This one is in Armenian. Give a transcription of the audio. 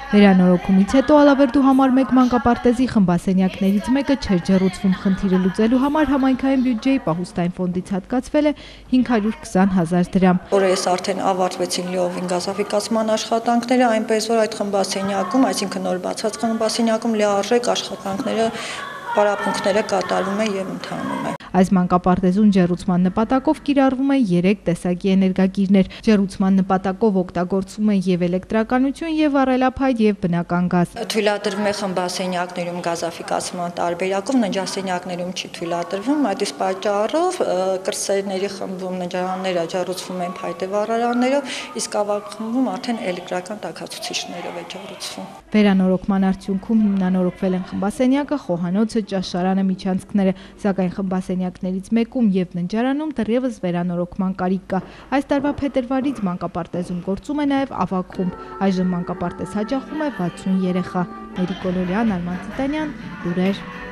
Վերանորոգումից հետո Ալավերդու համար 1 մանկապարտեզի խմբասենյակներից մեկը չէր ջեռուցվում, խնդիրը լուծելու համար համայնքային բյուջեի պահուստային ֆոնդից հատկացվել է 520,000 դրամ։ Օրերս արդեն ավարտվեցին լիովին գազաֆիկացման աշխատանքները, այնպես որ այդ խմբասենյակում, այսինքն նոր բացած խմբասենյակում լիարժեք աշխատանքները, պարապմունքները կատարվում է եւ ընթանում է։ Այս մանկապարտեզում ջեռուցման նպատակով կիրառվում է 3 տեսակի էներգակիրներ։ Ջեռուցման նպատակով օգտագործվում է եւ էլեկտրականություն, եւ առելափայտ եւ բնական գազ։ Թույլատրվում է խմբասենյակներում գազաֆիկացման տարբերակով, ննջասենյակներում չի թույլատրվում, այդ իսկ պատճառով կրսերների խմբում ննջարանները ջեռուցվում են փայտե վառարաններով, իսկ ավագ խմբում արդեն էլեկտրական տաքացուցիչներով է ջեռուցվում։ Վերանորոգման արդյունքում հիմնանորոգվել են խմբասենյակը, խոհանոցը, ճաշարանը, միջանցքները, սակայն խմբասենյակներից մեկում եւ ննջարանում դեռևս վերանորոգման կարիք կա։ Այս տարվա փետրվարից մանկապարտեզում գործում է նաեւ ավագ խումբ։ Այժմ մանկապարտեզ հաճախում է 60 երեխա։ Մերիկ Գոլորյան, Արման Տիտանյան, Լուրեր։